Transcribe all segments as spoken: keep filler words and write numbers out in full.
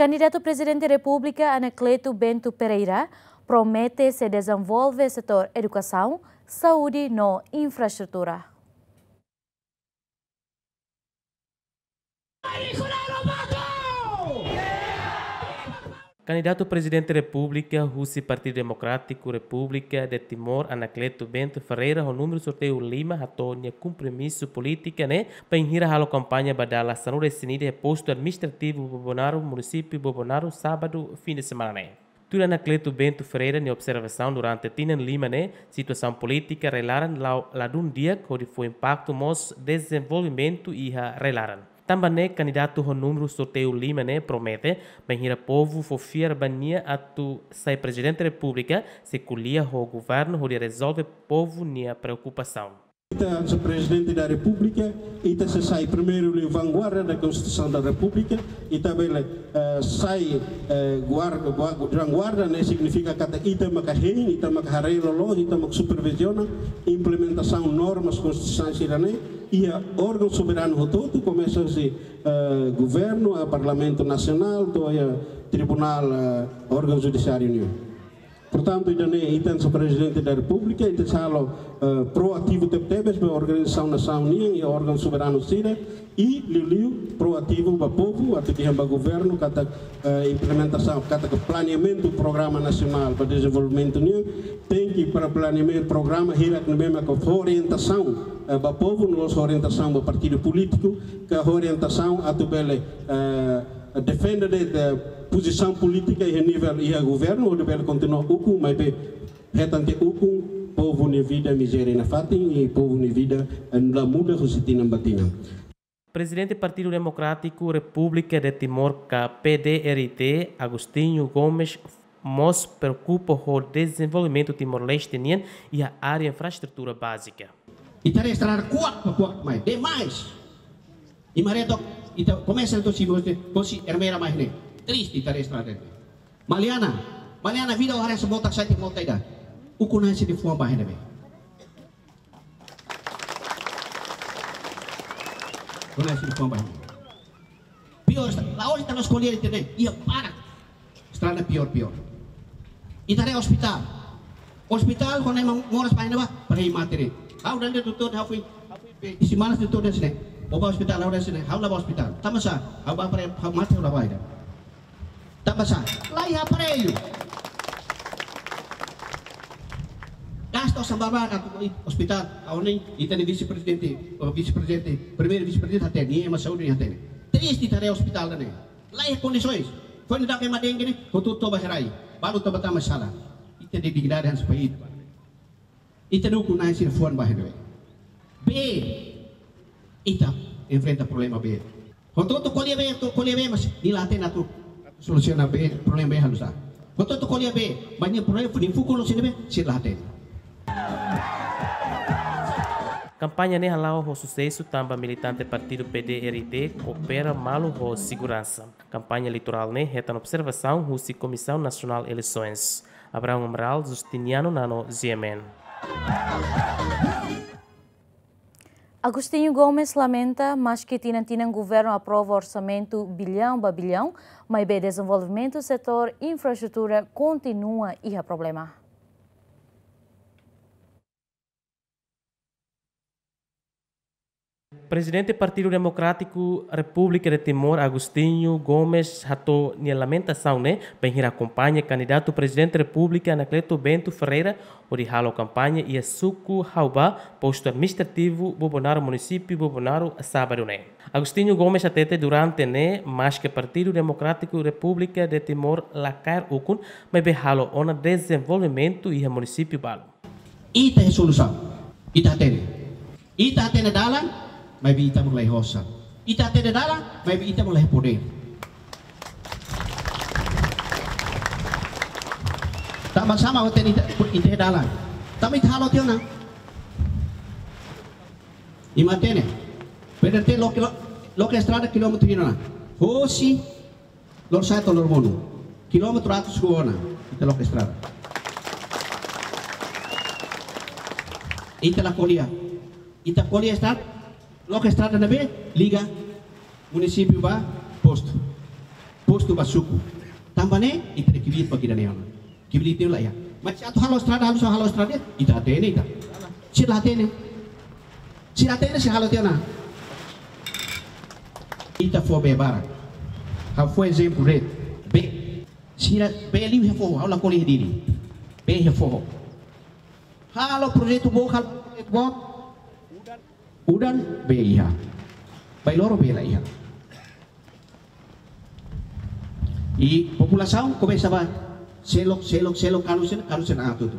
Kandidatu Prezidente Repúblika Anacleto Bento Ferreira promete sei dezenvolve setór edukasaun, saúde no infraestrutura. Kandidatu Prezidente Repúblika husi Partidu Demokrátiku Repúblika de Timor, Anacleto Bento Ferreira, ho númeru sorteiu lima, hato'o nia kompromisu polítika ne'e bainhira halo kampaña ba dala sanulu-resin-ida iha postu administrativu Bobonaro, munisípiu Bobonaro, sábadu, fim de semana ne'e. Tuir Anacleto Bento Ferreira nia observasaun, durante tinan lima ne'e, situasaun polítika rai-laran la'o ladún di'ak, hodi fó impaktu mós dezenvolvimentu iha rai-laran. Tanba ne'e, kandidatu ho númeru sorteiu lima ne'e promete, bainhira povu fó fiar ba nia atu sai Prezidente Repúblika, sei ko'alia ho governu hodi rezolve povu nia preokupasaun. Ita, señór Prezidente da Repúblika, ita sei sai primeiru liu vanguarda da Konstituisaun da Repúblika, ita bele, eh, sai, eh, guarda, gua-, vanguarda ne'e signifika katak ita maka hein, ita maka haree loloos, ita maka superviziona implementasaun normas konstitusionais sira-ne'e iha órgaun soberanu hotu-hotu, komesa husi, eh, governu, eh, Parlamentu Nasionál, to'o iha tribunál, eh, órgaun judisiáriu nian. Portantu, ida-ne'e ita, señór Prezidente da Repúblika, ita sei halo, eh, proativu tebetebes ba organizasaun nasaun nian iha órgaun soberanu sira, i liuliu proativu ba povu, atu dehan ba governu katak, eh, implementasaun, katak planeamentu programa nasionál ba dezenvolvimentu nian, tenke para planeamentu programa hirak ne'ebé maka fó orientasaun, eh, ba povu, no mós orientasaun ba partidu polítiku, ka orientasaun atu bele, eh, defende de'it pozisaun polítika iha nivel iha governu, hodi bele kontinua ukun, maibé hetan tiha ukun povu nia vida mizéria nafatin, i povu nia vida, eh, la muda husi tinan ba tinan. Prezidente Partidu Demokrátiku Repúblika de Timor ka P D R T, Agostinho Gomes, mós preokupa ho dezenvolvimentu Timor-Leste nian iha área infraestrutura bázika. Ita haree estrada kuak, kuak mai, demais. I maré to'o, ita komesa to'o si, hosi Ermera mai ne'e. Triste ita haree estrada ne'e. Maliana, Maliana vida o haree se mota sai te mota ida. Ukun-na'in sira-nia fuan ba iha ne'ebé. Ukun-na'in sira-nia fuan ba iha ne'ebé. Pior, la'ós ita la'ós ko'alia ita-nia, iha barak. Estrada pior, pior. Ita haree ospitál. Ospitál, kuandu ema moras ba iha ne'ebá, para mate de'it. Ha'u daudaun doutór, ha'u foin, ha'u foin, isin manas doutór dehan hanesan ne'e: "Ó bá ospitál, ha'u dehan hanesan ne'e, ha'u la bá ospitál." Tanba sá, ha'u bá para, ha'u mate, ha'u la bá ida. Tanba sá, laiha aparellu. Gasta osan barak atu ospitál, ha'u ne'e, ita-nia vise-prezidente, vise-prezidente, primeiru vise-prezidente hatene, ema saúde hatene. Triste ita haree ospitál ne'e. Laiha kondisoens. Foin daudauk ema dengue ne'e, hotu toba herai. Balu toba tama sala. Ita-nia dignidade hanesan país. Ita ukun-na'in sira-nia fuan ba iha ne'ebé. Bee, ita enfrenta problema bee. Hotu-hotu ko'alia bee, hotu-hotu ko'alia bee, mas nia la hatene atu solusiona bee, problema bee halo sá. Hotu-hotu ko'alia bee, mas nia problema, nia fukun no sira-ne'ebé, sira la hatene. Kampaña ne'e hala'o ho susesu tanba militante partidu P D R T koopera malu ho seguransa. Kampaña eleitorál ne'e hetan observasaun husi Komisaun Nasionál Eleisoens. Abraão Amaral, Justiniano Nano, G M N. Agostinho Gomes lamenta, maske tinan-tinan governu aprova orsamentu billaun ba billaun, maibé dezenvolvimentu setór infraestrutura kontinua iha problema. Prezidente Partidu Demokrátiku Repúblika de Timor, Agostinho Gomes, hato'o nia lamentasaun ne'e bainhira akompaña kandidatu Prezidente Repúblika Anacleto Bento Ferreira hodi halo kampaña iha suku Haubá, postu administrativu Bobonaro, munisípiu Bobonaro, sábadu ne'e. Agostinho Gomes hatete durante ne'e, maske Partidu Demokrátiku Repúblika de Timor la kaer ukun, maibé halo ona dezenvolvimentu iha munisípiu balu. Ita iha solusaun. Ita hatene. Ita hatene dalan, maibé ita mak laiha osan. Ita hatene dalan, maibé ita mak laiha podér. Tanba sá mak ita hatene, ita, ita iha dalan? Tanba ita halo tiha ona. Imi hatene. P D R T loke, loke estrada kilómetru hira ona? Hosi Lorosa'e to'o Loromonu. Kilómetru atus rua ona, ita loke estrada. Ita la ko'alia. Ita ko'alia estrada, loke estrada ne'ebé liga munisípiu ba postu. P postu ba suku. Tanba ne'e, ita kbiit ba ida-ne'e ona. Kbiit tiha ona la iha. Mas se atu halo estrada, halo só halo estrada, ita hatene ita. Sira la hatene. Sira hatene, sira halo tiha ona. Ita fó bee barak. Ha'u fó ezemplu de'it. Bee. Sira bee liu iha foho, ha'u lakohi iha Dili. Bee iha foho. Halo projetu boot, halo projetu boot. Udan bee iha. Bainhira loron bee la iha. I populasaun komesa ba selok, selok, selok, kanu sena, kanu sena atu tu.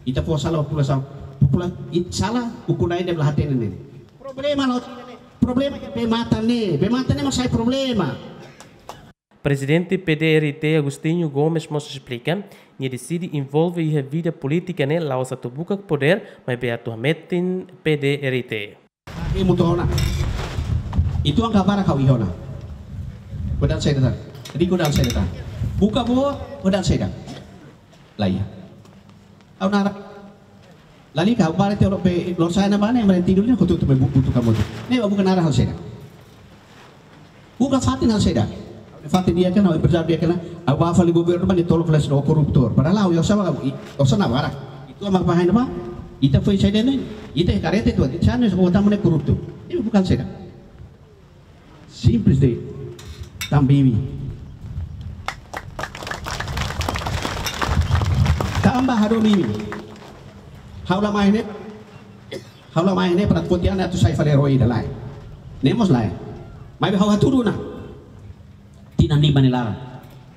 Ita fó sala populasaun. Popula-, i sala ukun-na'in ida la hatene ne'e. Problema lo, problema iha bee-matan ne'e. Bee-matan ne'e mak sai problema. Prezidente P D R I T Agostinho Gomes mós esplika, nia deside envolve iha vida polítika ne'e la'ós atu buka podér, maibé atu hametin P D R I T. Ita mutu ona. Ita-nia kabar kau iha ona. Padahal saida tan. Jadi padahal saida tan. Buka boot, padahal saida. La iha. Ha'u naruk. Lalika, ha'u bá tiha loos bee, loos sai na bane, meren tidur ni kutu tu me bu-, butuh kamu tu. Ne'e bukan arah hal saida. Bukan fatin hal saida. Fatin di'ak ona, emprezáriu di'ak ona, ha'u bá fali governu, bá nia tolok fali sira koruptór. Padahal ha'u, ha'u sá, ha'u sá na barak. Ita mak bahaya ba. Ita foin saida ne'e. Ita kareta tu, ita sana semua tamu ne'e koruptu. Ne'e bukan saida. Simples de'it. Tanba imi. Tanba hadomi imi. Ha'u la mai ne'e. Ha'u la mai ne'e para foti an atu sai fali roi ida lae. Ne'e mós lae. Maibé ha'u hatudu ona. Tinan lima nia laran.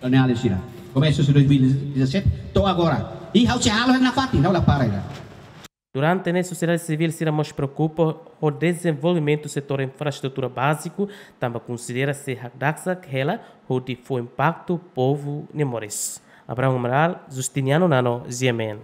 Daniel sira. Komesa husi dois mil e dezassete to'o agora. I ha'u sei halo nafatin, ha'u la para ida. Durante ne'e sosiedade sivíl sira mós preokupa ho dezenvolvimentu setór infraestrutura báziku, tanba konsidera sei hakdasak hela hodi fó impaktu povu nia moris. Abraão Amaral, Justiniano Nano, G M N.